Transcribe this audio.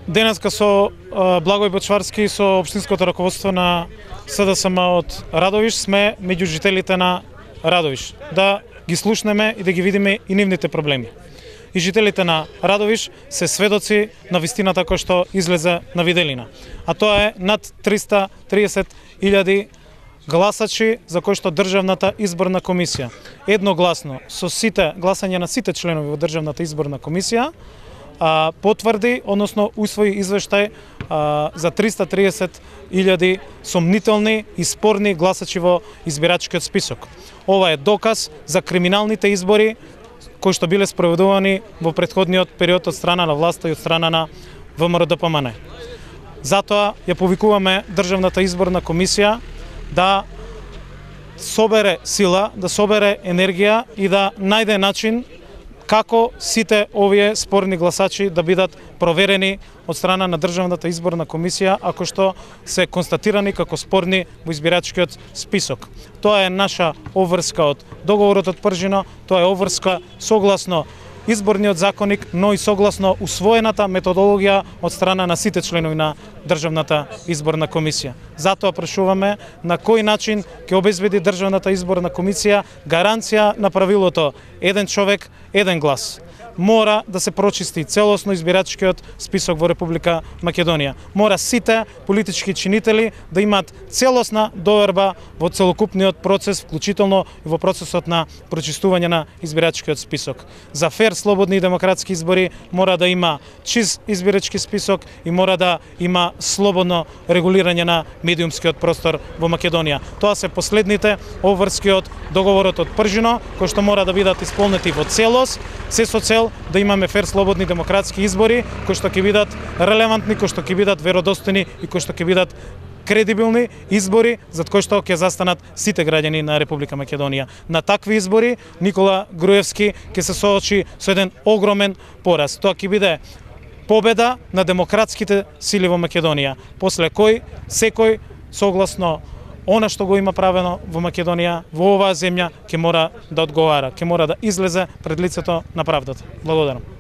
Денеска со Благој Бочварски и со општинското раководство на СДСМ од Радовиш сме меѓу жителите на Радовиш. Да ги слушнеме и да ги видиме и нивните проблеми. И жителите на Радовиш се сведоци на вистината која што излезе на виделина. А тоа е над 330.000 гласачи за кои што Државната изборна комисија едногласно со сите гласање на сите членови во Државната изборна комисија потврди, односно усвои извештај за 330.000 сомнителни и спорни гласачи во избирачкиот список. Ова е доказ за криминалните избори кои што биле спроведувани во претходниот период од страна на власта и од страна на ВМРО-ДПМН. Затоа ја повикуваме Државната изборна комисија да собере сила, да собере енергија и да најде начин како сите овие спорни гласачи да бидат проверени од страна на Државната изборна комисија ако што се констатирани како спорни во избирачкиот список. Тоа е наша обврска од договорот од Пржино, тоа е обврска согласно изборниот законник, но и согласно усвоената методологија од страна на сите членови на Државната изборна комисија. Затоа прашуваме на кој начин ќе обезбеди Државната изборна комисија гаранција на правилото еден човек, еден глас. Мора да се прочисти целосно избирачкиот список во Република Македонија. Мора сите политички чинители да имаат целосна доверба во целокупниот процес, вклучително и во процесот на прочистување на избирачкиот список. За фер, слободни и демократски избори мора да има чист избирачки список и мора да има слободно регулирање на медиумскиот простор во Македонија. Тоа се последните обврски од договорот од Пржино, кои што мора да бидат исполнети во целост, се со цел да имаме фер, слободни демократски избори кои што ќе бидат релевантни, кои што ќе бидат веродостојни и кои што ќе бидат кредибилни избори за кои што ќе застанат сите граѓани на Република Македонија. На такви избори Никола Груевски ќе се соочи со еден огромен пораз. Тоа ќе биде победа на демократските сили во Македонија, после кој секој согласно она што го има правено во Македонија, во оваа земја, ќе мора да одговара, ќе мора да излезе пред лицето на правдата. Благодарам.